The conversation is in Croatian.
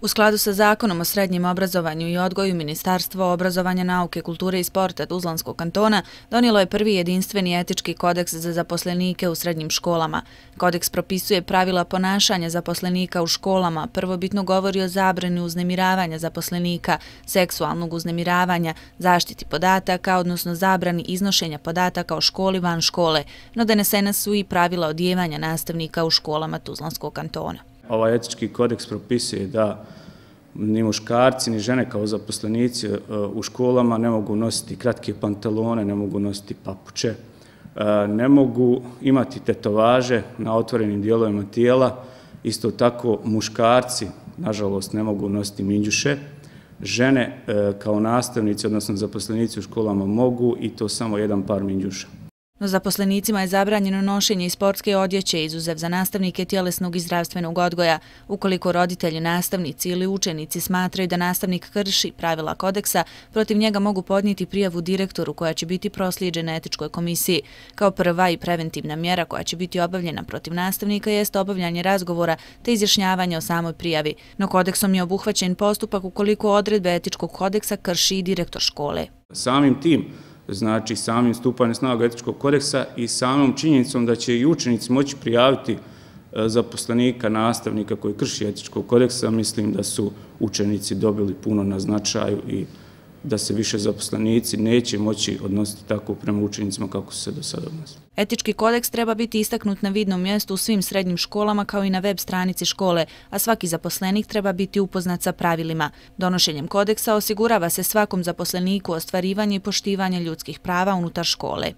U skladu sa Zakonom o srednjem obrazovanju i odgoju, Ministarstvo obrazovanja, nauke, kulture i sporta Tuzlanskog kantona donijelo je prvi jedinstveni etički kodeks za zaposlenike u srednjim školama. Kodeks propisuje pravila ponašanja zaposlenika u školama, prvobitno govori o zabrani uznemiravanja zaposlenika, seksualnog uznemiravanja, zaštiti podataka, odnosno zabrani iznošenja podataka o školi van škole, no donesena su i pravila odijevanja nastavnika u školama Tuzlanskog kantona. Ovaj etički kodeks propisuje da ni muškarci ni žene kao zaposlenici u školama ne mogu nositi kratke pantalone, ne mogu nositi papuče, ne mogu imati tetovaže na otvorenim dijelovima tijela. Isto tako muškarci, nažalost, ne mogu nositi minđuše. Žene kao nastavnici, odnosno zaposlenici u školama mogu i to samo jedan par minđuša. No zaposlenicima je zabranjeno nošenje i sportske odjeće, izuzev za nastavnike tjelesnog i zdravstvenog odgoja. Ukoliko roditelji, nastavnici ili učenici smatraju da nastavnik krši pravila kodeksa, protiv njega mogu podnijeti prijavu direktoru koja će biti proslijeđena etičkoj komisiji. Kao prva i preventivna mjera koja će biti obavljena protiv nastavnika jest obavljanje razgovora te izjašnjavanje o samoj prijavi. No kodeksom je obuhvaćen postupak ukoliko odredbe etičkog kodeksa krši i direktor škole. Samim tim, znači samim stupanjem snaga etičkog kodeksa i samom činjenicom da će i učenici moći prijaviti zaposlenika, nastavnika koji krši etičkog kodeksa, mislim da su učenici dobili puno na značaju i da se više zaposlenici neće moći odnositi tako prema učenicima kako su se do sada odnosili. Etički kodeks treba biti istaknut na vidnom mjestu u svim srednjim školama kao i na web stranici škole, a svaki zaposlenik treba biti upoznat sa pravilima. Donošenjem kodeksa osigurava se svakom zaposleniku ostvarivanje i poštivanje ljudskih prava unutar škole.